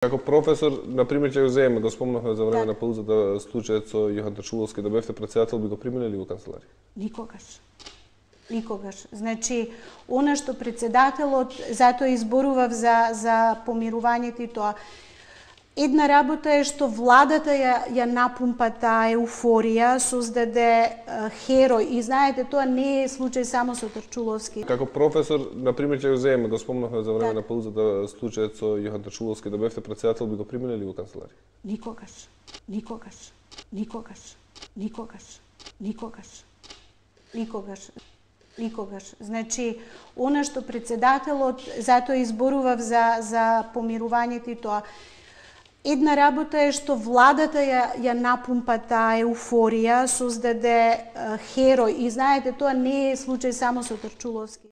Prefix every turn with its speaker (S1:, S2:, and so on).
S1: Како професор, на пример, ќе го земеме, го спомнавме за време на паузата случајот со Јохан Тачуловски, да бевте председател, би го примиле ли во канцеларија?
S2: Никогаш. Никогаш. Значи, она што председателот, затоа изборував за помирувањето и тоа. Една работа е што владата ја напумпа таа еуфорија, создаде херој. И знаете, тоа не е случај само со Тачуловски.
S1: Како професор, на пример, ќе го земеме, го спомнавме за време на паузата случајот со Јохан Тачуловски, да бевте председател, би го примиле ли во канцеларија?
S2: Никогаш. Никогаш. Никогаш. Никогаш. Никогаш. Никогаш. Никогаш. Значи, она што председателот, затоа изборував за помирувањето и тоа. Една работа е што владата ја напумпа таа еуфорија, создаде херој. И знаете, тоа не е случај само со Тачуловски.